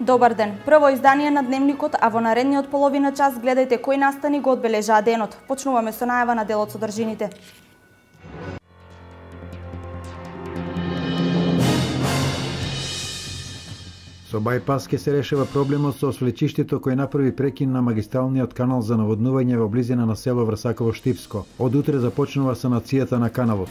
Добар ден. Прво издание на Дневникот, а во наредниот половина час гледајте кои настани го одбележаа денот. Почнуваме со најава на дел од содржините. Со бајпас ке се решава проблемот со свлечиштето кој направи прекин на магистралниот канал за наводнување во близина на село Врсаково-Штипско. Од утре започнува санацијата на каналот.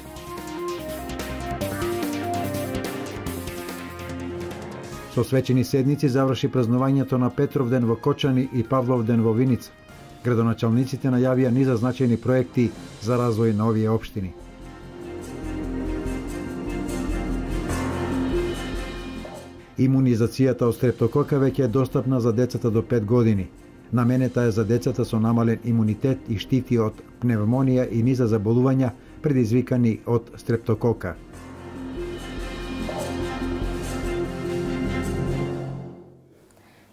Со свечени седници заврши празнувањето на Петровден во Кочани и Павловден во Виница. Градоначалниците најавија низа значајни проекти за развој на овие општини. Имунизацијата од стрептокока веќе е достапна за децата до 5 години. Наменета е за децата со намален имунитет и штити од пневмонија и низа заболувања предизвикани од стрептокока.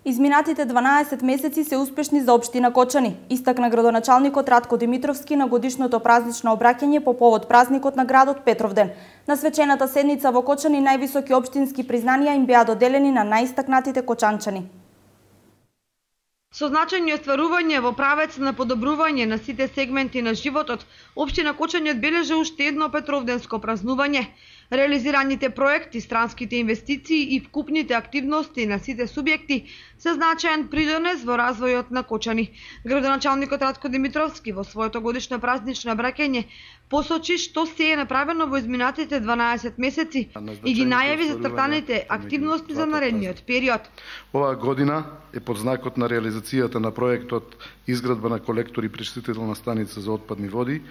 Изминатите 12 месеци се успешни за општина Кочани, истакна градоначалникот Ратко Димитровски на годишното празнично обраќање по повод празникот на градот Петровден. На свечената седница во Кочани највисоки општински признанија им беа доделени на најистакнатите кочанчани. Со значајни остварување во правец на подобрување на сите сегменти на животот, општина Кочани одбележа уште едно петровденско празнување. Реализираните проекти, странските инвестиции и вкупните активности на сите субјекти се значаен придонес во развојот на Кочани. Градоначалникот Ратко Димитровски во своето годишно празнично обраќање посочи што се е направено во изминатите 12 месеци и ги најави зацртаните активности за наредниот период. Оваа година е под знакот на реализацијата на проектот изградба на колектор и пречистителна станица за отпадни води,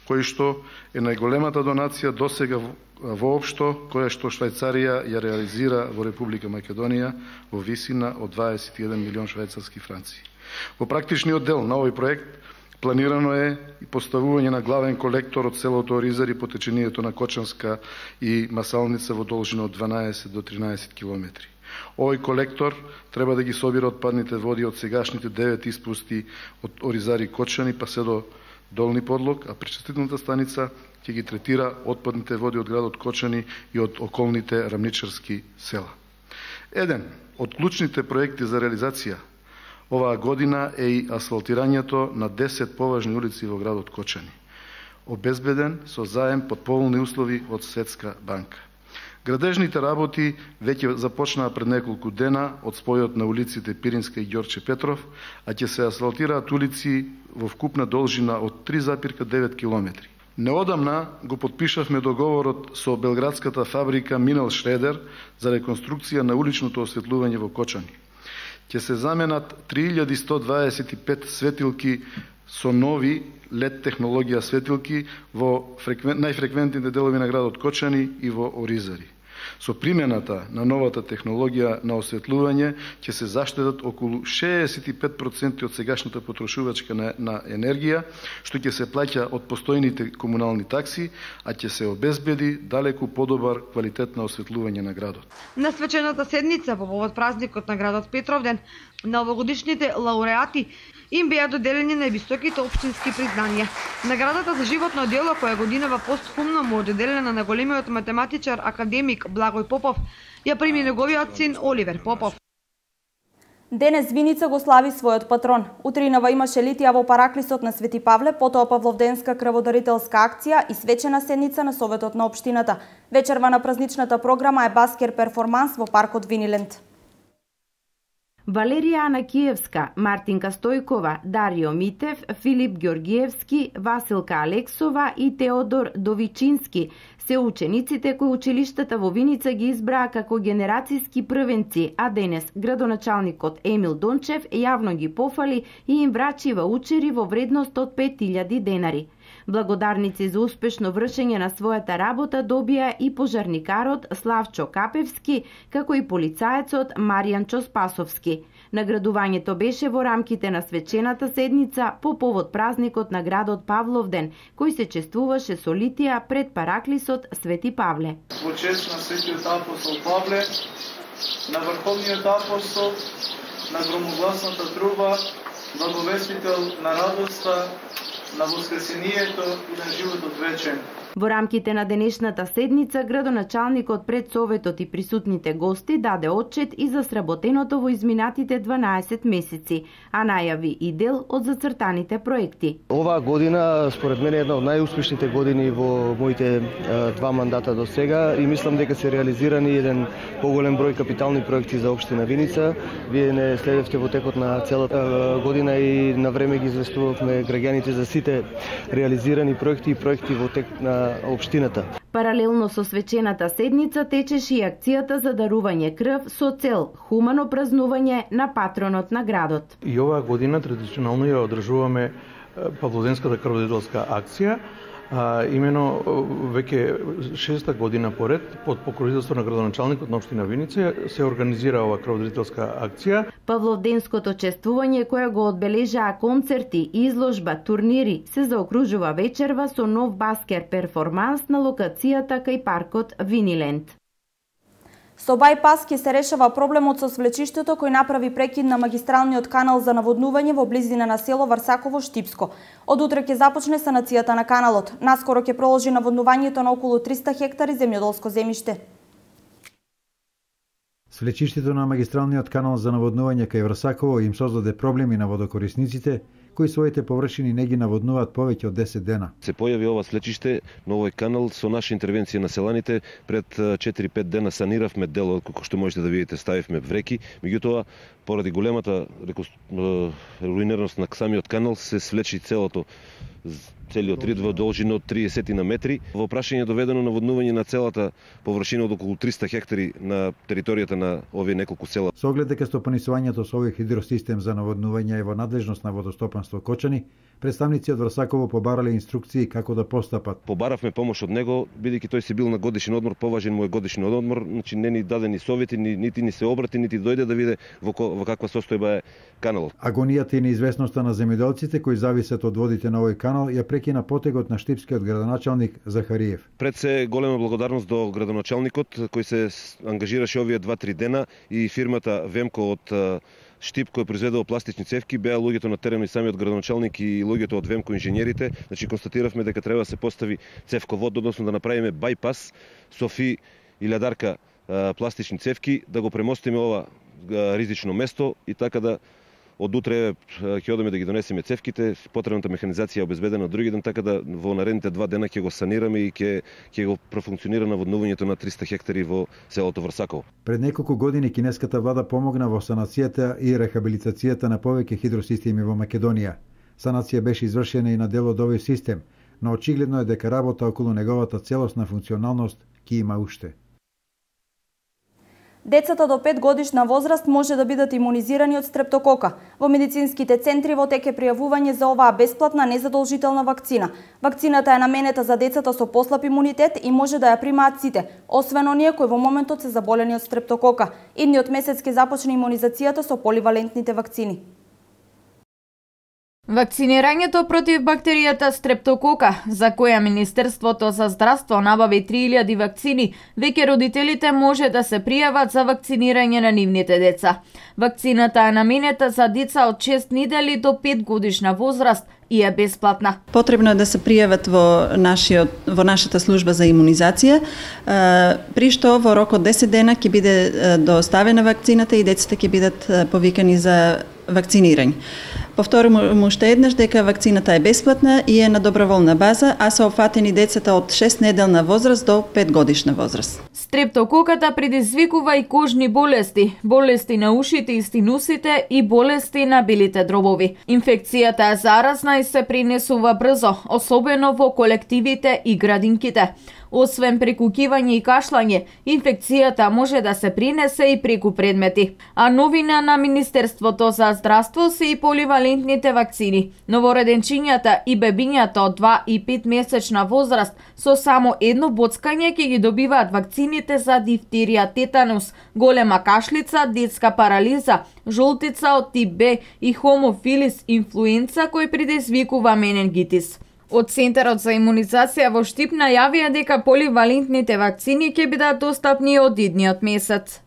кој што е најголемата донација досега воопшто која што Швајцарија ја реализира во Република Македонија во висина од 21 милион швајцарски франци. Во практичниот дел на овој проект планирано е и поставување на главен колектор од селото Оризари по течението на Кочанска и Масалница во должина од 12 до 13 километри. Овој колектор треба да ги собира отпадните води од сегашните 9 испусти од Оризари Кочани па се до Долни Подлог, а пречистителната станица ќе ги третира отпадните води од градот Кочани и од околните рамничарски села. Еден од клучните проекти за реализација оваа година е и асфалтирањето на 10 поважни улици во градот Кочани, обезбеден со заем под поволни услови од Светска банка. Градежните работи веќе започнаа пред неколку дена од спојот на улиците Пиринска и Ѓорче Петров, а ќе се асфалтираат улици во вкупна должина од 3,9 километри. Неодамна го подпишавме договорот со белградската фабрика Минел Шредер за реконструкција на уличното осветлување во Кочани. Ќе се заменат 3125 светилки со нови LED технологија светилки во најфреквентните делови на градот Кочани и во Оризари. Со примената на новата технологија на осветлување ќе се заштедат околу 65% од сегашната потрошувачка на енергија, што ќе се плаќа од постојните комунални такси, а ќе се обезбеди далеку подобар квалитет на осветлување на градот. На свечената седница по повод празникот на градот Петровден, на овогодишните лауреати им беа доделени највисоките општински признанија. Наградата за животно дело која годинава постхумно му доделена на големиот математичар академик Благој Попов, ја прими неговиот син Оливер Попов. Денес Виница го слави својот патрон. Утринава имаше литија во Параклисот на Свети Павле, потоа Павловденска крводарителска акција и свечена седница на Советот на општината. Вечерва на празничната програма е баскер перформанс во паркот Виниленд. Валерија Анакиевска, Мартинка Стојкова, Дарио Митев, Филип Ѓоргиевски, Василка Алексова и Теодор Довичински се учениците кои училиштата во Виница ги избраа како генерацијски првенци, а денес градоначалникот Емил Дончев јавно ги пофали и им врачи ваучери во вредност од 5000 денари. Благодарници за успешно вршење на својата работа добија и пожарникарот Славчо Капевски, како и полицаецот Маријанчо Спасовски. Наградувањето беше во рамките на свечената седница по повод празникот на градот Павловден, кој се чествуваше со литија пред Параклисот Свети Павле. Во чест на Светиот апостол Павле, на Врховниот апостол, на громогласната труба, благовестител на радоста, на воскресението и на животот вечен. Во рамките на денешната седница, градоначалникот пред Советот и присутните гости даде отчет и за сработеното во изминатите 12 месеци, а најави и дел од зацртаните проекти. Оваа година, според мене, е една од најуспешните години во моите два мандата до сега и мислам дека се реализирани еден поголем број капитални проекти за општина Виница. Вие не следевте во текот на целата година и на време ги известувавме граѓаните за сите реализирани проекти и проекти во тек на општината. Паралелно со свечената седница течеше и акцијата за дарување крв со цел хумано празнување на патронот на градот. И оваа година традиционално ја одржуваме Павлоденската крводарителска акција. Имено веќе 6-та година поред под покровителство на градоначалникот на општина Виница се организира оваа крводарителска акција. Павловденското чествување кое го одбележаа концерти, изложба, турнири се заокружува вечерва со нов баскер перформанс на локацијата кај паркот Виниленд. Со бајпас ќе се решава проблемот со свлечиштето кој направи прекид на магистралниот канал за наводнување во близина на село Варсаково-Штипско. Од утре ќе започне санацијата на каналот. Наскоро ќе продолжи наводнувањето на околу 300 хектари земјоделско земјиште. Свлечиштето на магистралниот канал за наводнување кај Врсаково им создаде проблеми на водокорисниците, кои своите површини не ги наводнуваат повеќе од 10 дена. Се појави ова свлечиште на овој канал со наша интервенција на селаните. Пред 4-5 дена саниравме дел, како што можете да видите, ставивме вреки. Меѓутоа, поради големата руинираност на самиот канал, се свлечи целиот рид во должина од 30 на метри. Во прашање доведено наводнување на целата површина од околу 300 хектари на територијата на овие неколку села. Со оглед дека стопанисувањето со овој хидросистем за наводнување е во надлежност на водостопанство Кочани, представници од Врсаково побарале инструкции како да постапат. Побаравме помош од него, бидејќи тој се бил на годишен одмор, поважен му е годишен одмор, значи не ни даде ни совети, нити ни се обрати, нити дојде да види во каква состојба е каналот. Агонијата и неизвестноста на земјоделците кои зависат од водите на овој канал ја прекина потегот на штипскиот градоначалник Захариев. Пред се голема благодарност до градоначалникот кој се ангажираше овие 2-3 дена и фирмата Вемко од Штип кој произведува пластични цевки, беа луѓето на терен и самиот градоначалник и луѓето од Вемко инженерите, значи констатиравме дека треба да се постави цевковод, односно да направиме бајпас со фи и лјадарка пластични цевки, да го премостиме ова ризично место и така да од утре ќе одиме да ги донесеме цевките, потребната механизација е обезбедена од други ден, така да во наредните 2 дена ќе го санираме и ќе го профункционира наводнувањето на 300 хектари во селото Врсаково. Пред неколку години кинеската влада помогна во санацијата и рехабилитацијата на повеќе хидросистеми во Македонија. Санација беше извршена и на дел од овој систем, но очигледно е дека работа околу неговата целосна функционалност ќе има уште. Децата до 5 годишна возраст може да бидат имунизирани од стрептокока. Во медицинските центри во тек е пријавување за оваа бесплатна незадолжителна вакцина. Вакцината е наменета за децата со послаб имунитет и може да ја примаат сите, освен оние кои во моментот се заболени од стрептокока. Идниот месец ќе започне имунизацијата со поливалентните вакцини. Вакцинирањето против бактеријата стрептокока, за која Министерството за здравство набави 3000 вакцини, веќе родителите може да се пријават за вакцинирање на нивните деца. Вакцината е наменета за деца од 6 недели до 5 годишна возраст и е бесплатна. Потребно е да се пријават во нашата служба за имунизација, при што во рок од 10 дена ќе биде доставена вакцината и децата ќе бидат повикани за вакцинирање. Повторувам уште еднаш дека вакцината е бесплатна и е на доброволна база, а се опфатени децата од 6 неделна возраст до 5 годишна возраст. Стрептококата предизвикува и кожни болести, болести на ушите и стинусите и болести на белите дробови. Инфекцијата е заразна и се пренесува брзо, особено во колективите и градинките. Освен преку кивање и кашлање, инфекцијата може да се пренесе и преку предмети. А новина на Министерството за здравство се и поливалентните вакцини. Новороденчињата и бебињата од 2 и 5 месечна возраст со само едно боцкање ќе ги добиваат вакцините за дифтерија, тетанус, голема кашлица, детска парализа, жолтица од тип Б и хомофилис инфлуенца кој предизвикува менингитис. Од Центарот за имунизација во Штип најавија дека поливалентните вакцини ќе бидат достапни од идниот месец.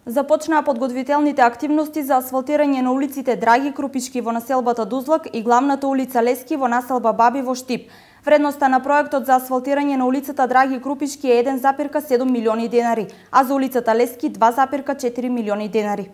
Започнаа подготвителните активности за асфалтирање на улиците Драги Крупишки во населбата Дузлак и главната улица Лески во населба Баби во Штип. Вредноста на проектот за асфалтирање на улицата Драги Крупишки е 1,7 милиони денари, а за улицата Лески 2,4 милиони денари.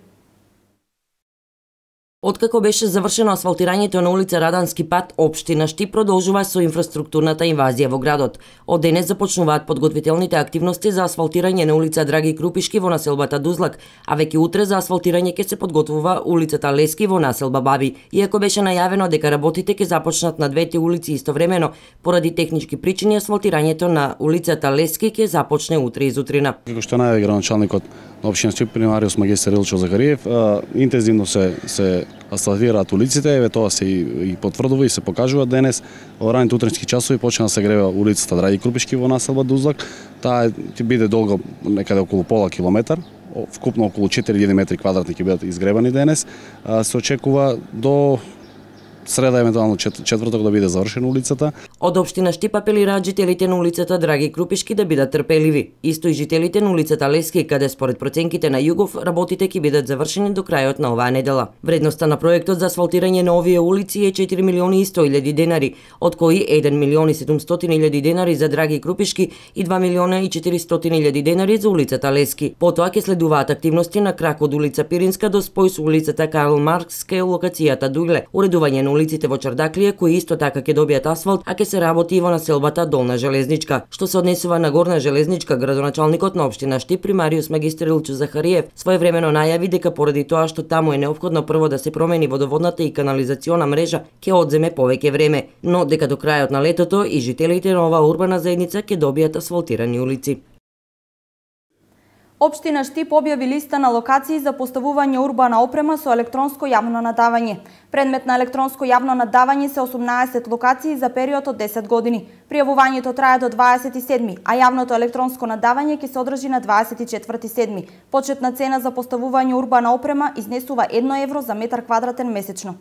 Откако беше завршено асфалтирањето на улица Радански пат, општина Штип продолжува со инфраструктурната инвазија во градот. Од денес започнуваат подготвителните активности за асфалтирање на улица Драги Крупишки во населбата Дузлак, а веќе утре за асфалтирање ќе се подготвува улицата Лески во населба Баби. Иако беше најавено дека работите ќе започнат на двете улици истовремено, поради технички причини асфалтирањето на улицата Лески ќе започне утре изутрина. Како што најави градоначалникот на општина Штип, примариус магистар Илчо Захариев, интензивно се асфалтираат улиците, еве тоа се и потврдува и се покажува денес. Во раните утрински часови почна да се гребе улицата Драги Крупишки во населба Дузлак. Таа ќе биде долга некаде околу пола километар, вкупно околу 4000 метри квадратни ќе бидат изгребани денес. Се очекува до среда, евентуално четврток да биде завршена улицата. Од општина Штип апелираат жителите на улицата Драги Крупишки да бидат трпеливи. Исто и жителите на улицата Лески, каде според проценките на Југов работите ќе бидат завршени до крајот на оваа недела. Вредноста на проектот за асфалтирање на овие улици е 4 милиони и 100 илјади денари, од кои 1 милион и 700 илјади денари за Драги Крупишки и 2 милиона и 400 илјади денари за улицата Лески. Потоа ќе следуваат активности на крак од улица Пиринска до спој со улицата Карл Маркс кај локацијата Дујле, уредување на улиците во Чардаклија, кои исто така ќе добијат асфалт, а ќе се работи и во населбата Долна Железничка. Што се однесува на Горна Железничка, градоначалникот на општина Штип, примариус магистар Илчо Захариев, своевремено најави дека поради тоа што таму е неопходно прво да се промени водоводната и канализациона мрежа, ќе одземе повеќе време, но дека до крајот на летото и жителите на оваа урбана заедница ќе добијат асфалтирани улици. Општина Штип објави листа на локации за поставување урбана опрема со електронско јавно надавање. Предмет на електронско јавно надавање се 18 локации за период од 10 години. Пријавувањето трае до 27, а јавното електронско надавање ќе се одржи на 24/7. Почетна цена за поставување урбана опрема изнесува 1 евро за метар квадратен месечно.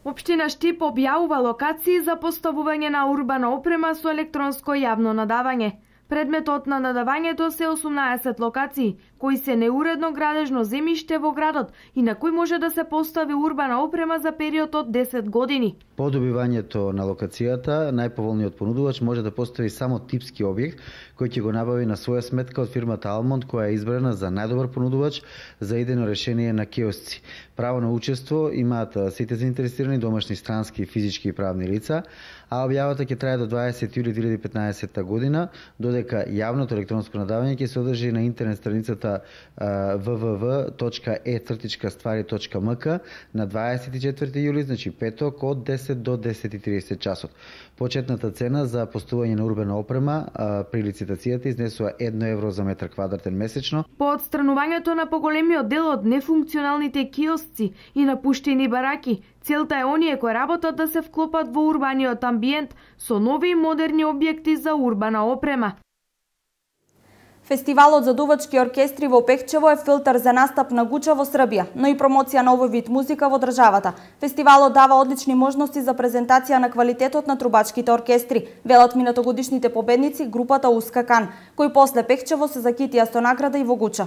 Општина Штип објавува локации за поставување на урбана опрема со електронско јавно надавање. Предметот на надавањето се 18 локации, кои се неуредно градежно земјиште во градот и на кои може да се постави урбана опрема за период од 10 години. По добивањето на локацијата, најповолниот понудувач може да постави само типски објект, кој ќе го набави на своја сметка од фирмата Алмонд, која е избрана за најдобар понудувач за идејно решение на киосци. Право на учество имаат сите заинтересирани домашни, странски, физички и правни лица, а објавата ќе трае до 20 јули 2015 година, додека јавното електронско надавање ќе се одржи на интернет страницата www.e-ствари.mk на 24 јули, значи петок, од 10 до 10:30 часот. Почетната цена за постување на урбана опрема при лицитацијата изнесува 1 евро за метар квадратен месечно. По отстранувањето на поголемиот дел од нефункционалните киосци и напуштени бараки, целта е оние кои работат да се вклопат во урбаниот амбиент со нови и модерни објекти за урбана опрема. Фестивалот за дувачки оркестри во Пехчево е филтер за настап на Гуча во Србија, но и промоција на овој вид музика во државата. Фестивалот дава одлични можности за презентација на квалитетот на трубачките оркестри, велат минатогодишните победници групата Уска Кан, кои после Пехчево се закитија со награда и во Гуча.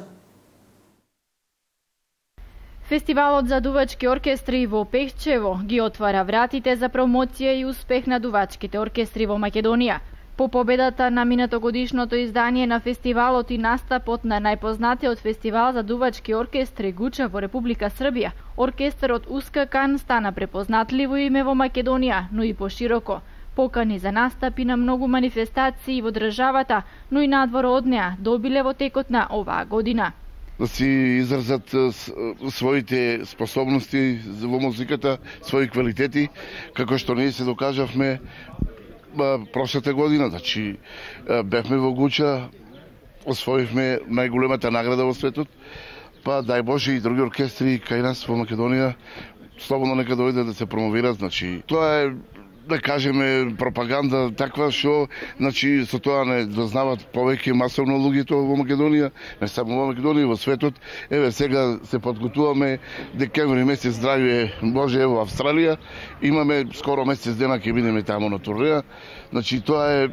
Фестивалот за дувачки оркестри во Пехчево ги отвара вратите за промоција и успех на дувачките оркестри во Македонија. По победата на минатогодишното издание на фестивалот и настапот на најпознатиот фестивал за дувачки оркестри Гуча во Република Србија, оркестарот Уска Кан стана препознатливо име во Македонија, но и пошироко. Покани за настапи на многу манифестации во државата, но и надвор од неа, добиле во текот на оваа година. Да си изразат своите способности во музиката, своји квалитети, како што ние се докажавме прошлата година. Значи, бевме во Гуча, освоивме најголемата награда во светот, па дај Боже и други оркестри кај нас во Македонија слободно нека дојдат да се промовират. Значи, тоа е, да кажеме, пропаганда таква што, значи, со тоа не дознават повеќе масовно луѓето во Македонија, не само во Македонија, во светот. Еве сега се подготуваме, декември месец, здравје Боже, во Австралија, имаме скоро месец дена ќе бидеме таму на турнеја. Значи, тоа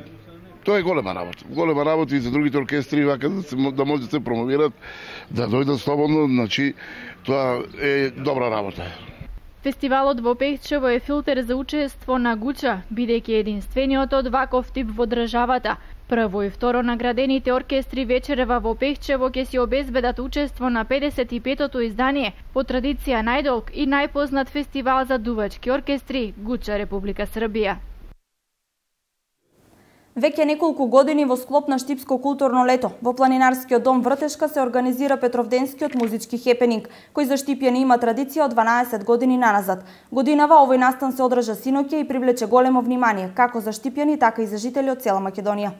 Тоа е голема работа. Голема работа и за другите оркестри вака да може да се промовират, да дојдат слободно, значи тоа е добра работа. Фестивалот во Пехчево е филтер за учество на Гуча, бидејќи единствениот од ваков тип во државата. Прво и второ наградените оркестри вечерева во Пехчево ќе си обезбедат учество на 55-тото издание, по традиција најдолг и најпознат фестивал за дувачки оркестри Гуча, Република Србија. Веќе неколку години во склоп на Штипско културно лето во планинарскиот дом Вртешка се организира Петровденскиот музички хепенинг, кој за штипјани има традиција од 12 години наназад. Годинава овој настан се одржа синоќа и привлече големо внимание, како за штипјани, така и за жители од цела Македонија.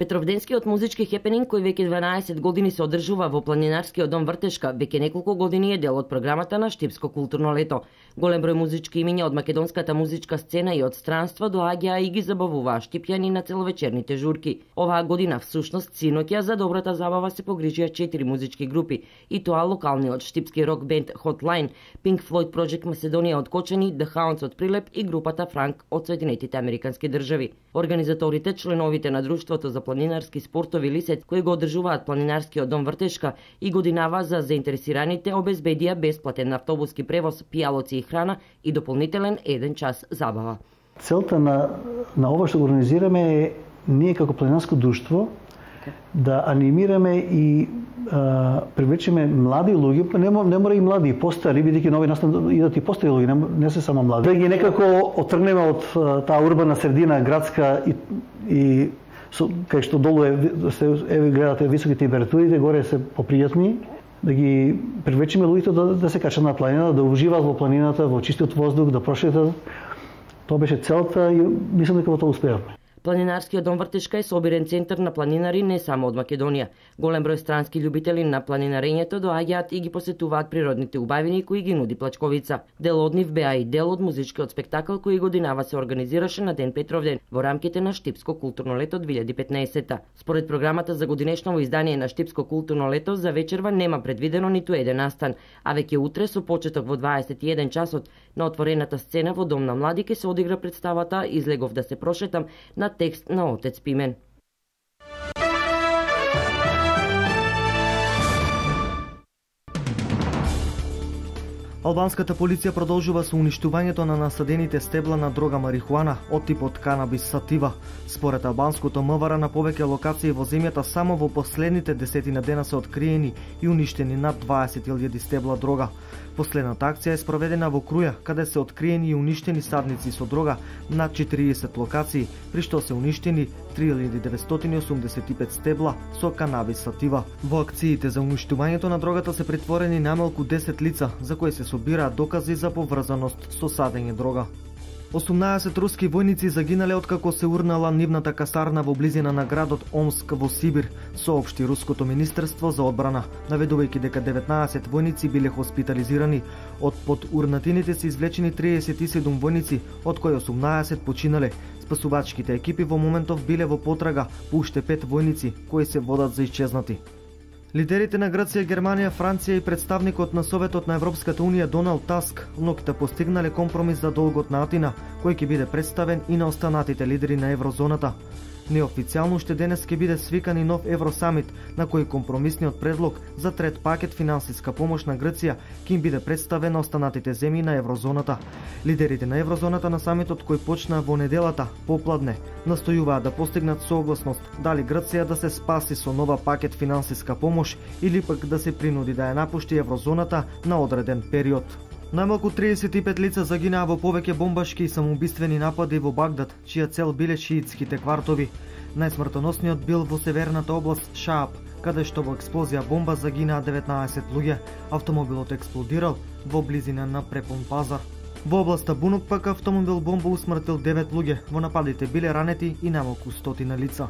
Петровденскиот музички хепенинг, кој веќе 12 години се одржува во планинарскиот дом Вртешка, веќе неколку години е дел од програмата на Штипско културно лето. Голем број музички имиња од македонската музичка сцена и од странства доаѓаа и ги забавуваа штипјани на целовечерните журки. Оваа година всушност синоќа за добрата забава се погрижија 4 музички групи, и тоа локалниот штипски рок бенд Hotline, Pink Floyd Project Macedоnia од Кочани, The Hounds од Прилеп и групата Франк од Соединетите Американски држави. Организаторите, членовите на Друштвото за планинарски спортови Лисет, кои го одржуваат планинарскиот дом Вртешка, и годинава за заинтересираните обезбедија бесплатен автобуски превоз, пијалоци и храна и дополнителен 1 час забава. Целта на ова што го организираме е ние како планинарско друштво да анимираме и привлечеме млади луѓе, не мора и млади, и постари, бидејќи нови настан идат и постари луѓе, не се само млади. Да ги некако оттргнеме од таа урбана средина градска и кај што долу гледате високи температурите, горе се попријатни, да ги привлечеме луѓето да се качат на планината, да уживаат во планината, во чистиот воздух, да прошетат. Тоа беше целта и мислам дека во тоа успеавме. Планинарскиот дом Вртешка е собирен центар на планинари не само од Македонија. Голем број странски љубители на планинарењето доаѓаат и ги посетуваат природните убавини кои ги нуди Плачковица. Дел од нив беа и дел од музичкиот спектакл кој годинава се организираше на Ден Петровден во рамките на Штипско културно лето 2015. Според програмата за годинешново издание на Штипско културно лето за вечерва нема предвидено ниту еден настан, а веќе утре со почеток во 21 часот на отворената сцена во Дом на млади ќе се одигра представата Излегов да се прошетам на текст на Отец Пимен. Албанската полиција продолжува со уништувањето на насадените стебла на дрога марихуана од типот канабис сатива. Според албанското МВР на повеќе локации во земјата само во последните 10 дена се откриени и уништени над 20.000 стебла дрога. Последната акција е спроведена во Круја, каде се откриени и уништени садници со дрога на 40 локации, при што се уништени 3985 стебла со канабис сатива. Во акциите за уништувањето на дрогата се претворени најмалку 10 лица, за кои се собираат докази за поврзаност со садење дрога. 18 руски војници загинале откако се урнала нивната касарна во близина на градот Омск во Сибир, соопшти Руското министерство за одбрана, наведувајќи дека 19 војници биле хоспитализирани. Од под урнатините се извлечени 37 војници, од кои 18 починале. Спасувачките екипи во моментов биле во потрага по уште 5 војници кои се водат за исчезнати. Лидерите на Грција, Германија, Франција и представникот на Советот на Европската Унија Доналд Таск ноќта постигнале компромис за долгот на Атина, кој ќе биде представен и на останатите лидери на еврозоната. Неофицијално уште денес ќе биде свикан и нов Евросамит, на кој компромисниот предлог за трет пакет финансиска помош на Грција ќе им биде представен на останатите земји на еврозоната. Лидерите на еврозоната на самитот кој почна во неделата попладне настојуваат да постигнат согласност дали Грција да се спаси со нова пакет финансиска помош или пак да се принуди да ја напушти еврозоната на одреден период. Најмалку 35 лица загинаа во повеќе бомбашки и самоубиствени напади во Багдад, чија цел биле шиитските квартови. Најсмртоносниот бил во северната област Шааб, каде што во експлозија бомба загинаа 19 луѓе. Автомобилот експлодирал во близина на препон пазар. Во областа Бунук пак автомобил бомба усмртил 9 луѓе. Во нападите биле ранети и најмалку 100 лица.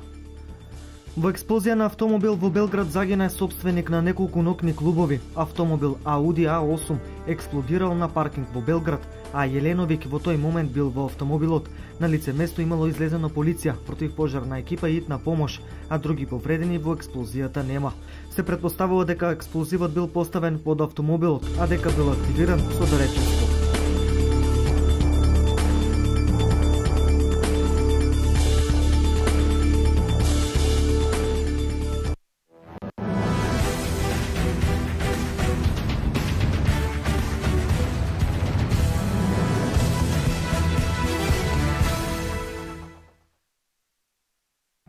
Во експлозија на автомобил во Белград загина сопственик на неколку ноќни клубови. Автомобил Ауди А8 експлодирал на паркинг во Белград, а Јеленовик во тој момент бил во автомобилот. На лице место имало излезено полиција, противпожарна екипа и итна помош, а други повредени во експлозијата нема. Се претпоставува дека експлозивот бил поставен под автомобилот, а дека бил активиран со дареченство.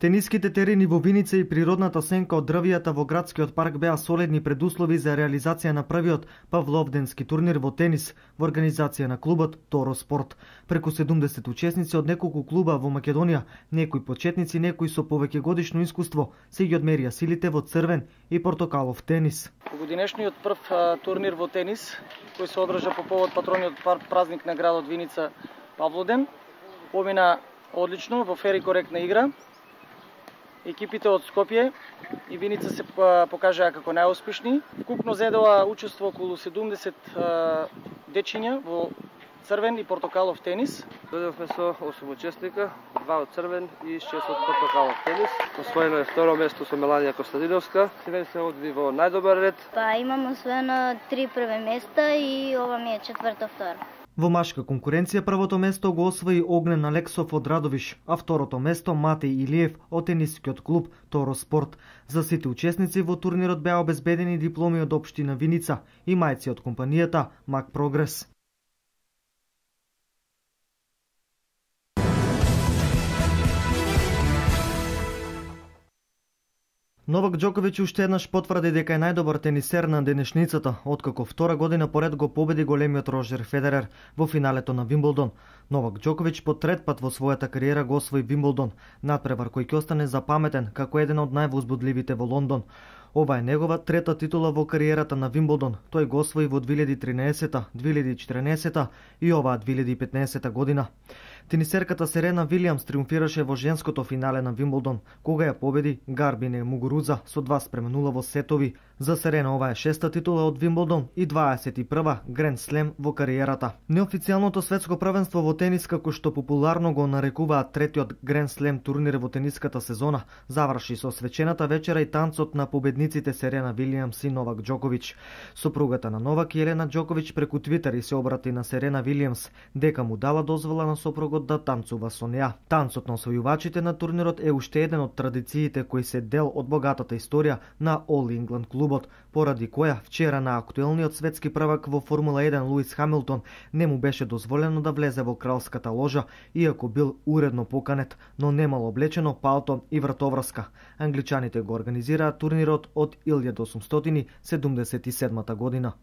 Тениските терени во Виница и природната сенка од дрвијата во градскиот парк беа солидни предуслови за реализација на првиот павловденски турнир во тенис во организација на клубот Торо Спорт. Преку 70 учесници од неколку клуба во Македонија, некои почетници, некои со повеќе годишно искуство, се ги одмерија силите во црвен и портокалов тенис. Годинешниот прв турнир во тенис, кој се одржа по повод патрониот празник на градот Виница Павлоден, помина одлично во фер и коректна игра. Екипите од Скопје и Виница се покажаа како најуспешни. Вкупно зедоа учество околу 70 дечиња во црвен и портокалов тенис. Дојдовме со 8 учесника, 2 од црвен и 6 од портокалов тенис. Освоено е второ место со Меланија Костадиновска. Сега се одви во најдобар ред. Имам освоено 3 први места и ова ми е четврто второ. Во машка конкуренција првото место го освои Огнен Алексов од Радовиш, а второто место Матеј Илиев од тенискиот клуб Торо Спорт. За сите учесници во турнирот беа обезбедени дипломи од општина Виница и мајци од компанијата Мак Прогрес. Новак Џоковиќ уште еднаш потврди дека е најдобар тенисер на денешницата, откако втора година поред го победи големиот Роџер Федерер во финалето на Вимблдон. Новак Џоковиќ по трет пат во својата кариера го освои Вимблдон, надпревар кој ќе остане запаметен како еден од највозбудливите во Лондон. Ова е негова трета титула во кариерата на Вимблдон. Тој го освои во 2013, 2014 и оваа 2015 година. Тенисерката Серена Вилијамс триумфираше во женското финале на Вимблдон, кога ја победи Гарбине Мугуруза со 2:0 во сетови. За Серена ова е шеста титула од Вимблдон и 21 Гранд Слем во кариерата. Неофицијалното светско првенство во тенис, како што популарно го нарекуваат третиот Гранд Слем турнир во тениската сезона, заврши со свечената вечера и танцот на победниците Серена Вилијамс и Новак Џоковиќ. Сопругата на Новак, Елена Џоковиќ, преку Твитер и се обрати на Серена Вилијамс дека му дала дозвола на сопругот да танцува со неа. Танцот на освојувачите на турнирот е уште еден од традициите кои се дел од богатата историја на All England клубот, поради која вчера на актуелниот светски првак во Формула 1 Луис Хамилтон не му беше дозволено да влезе во кралската ложа, иако бил уредно поканет, но немал облечено палто и вратоврска. Англичаните го организираат турнирот од 1877 година.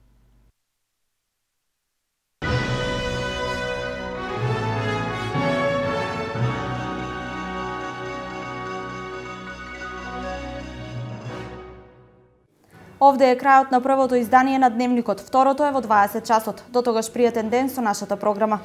Овде е крајот на првото издание на Дневникот. Второто е во 20 часот. До тогаш пријатен ден со нашата програма.